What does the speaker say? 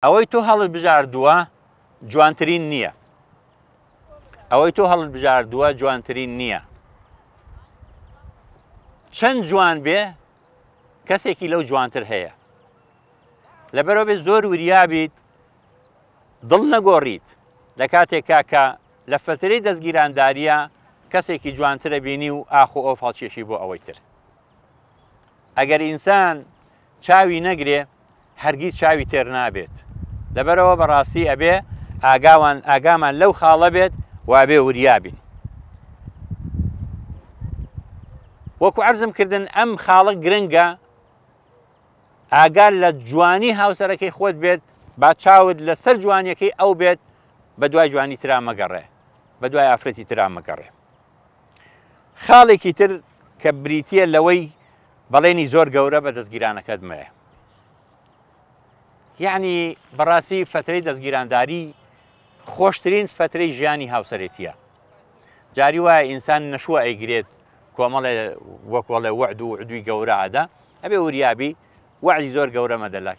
ئەوەی تۆ هەڵت بژاردووە جوانترین نییە. ئەوەی تۆ هەڵت بژاردووە جوانترین نییە. چەند جوان بێ کەسێکی لەو جوانتر هەیە. لەبەرەوە بێ زۆر وریابیت دڵ نەگۆڕیت لە کاتێکا کە لە فەترەی دەستگیرانداریە کەسێکی جوانترە بینی و ئاخ و ئۆف هەڵکێشی بۆ ئەوەی تر. ئەگەر ئینسان چاوی نەگرێ هەرگیز چاوی تێر نابێت لەبەرئەوە بەڕاستی ئەبێ ئاگاوان ئاگامان لەو خاڵە بێت و ئەبێ وریا بین وەکو عەرزم کردن ئەم خاڵە گرنگە ئاگا لە جوانی هاوسەرەکەی خۆت بێت با چاوت لەسەر جوانیەکەی ئەو بێت بە دوای جوانی ترا مەگەڕێ بە دوای ئافرەتی ترا مەگەڕێ خاڵێکی تر کە بریتە لەوەی بەڵێنی زۆر گەورە بە دەستگیرانەکەت مەیە یعنی بەڕاستی فترەی دەستگیرانداری خۆشترین فترەی ژیانی هاوسەرێتیە جاری وایە ئینسان نەشوە ئەیگرێت کۆمەڵێ وەکۆڵێ وەعد و عدوی گەورە ئەدا ئەبێ وریابی وەعدی زۆر گەورە مەدە لای.